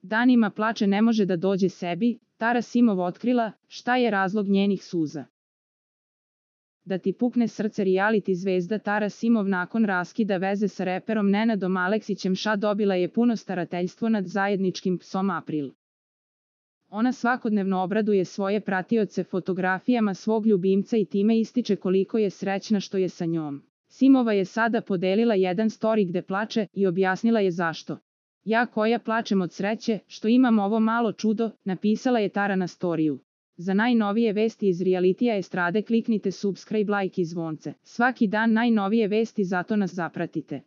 Danima plače, ne može da dođe sebi. Tara Simov otkrila šta je razlog njenih suza. Da ti pukne srce, reality zvezda Tara Simov nakon raskida veze sa reperom Nenadom Aleksićem dobila je puno starateljstvo nad zajedničkim psom April. Ona svakodnevno obraduje svoje pratioce fotografijama svog ljubimca i time ističe koliko je srećna što je sa njom. Simova je sada podelila jedan story gde plače i objasnila je zašto. Ja koja plačem od sreće što imam ovo malo čudo, napisala je Tara na storiju. Za najnovije vesti iz realitija estrade kliknite subscribe, like i zvonce. Svaki dan najnovije vesti, zato nas zapratite.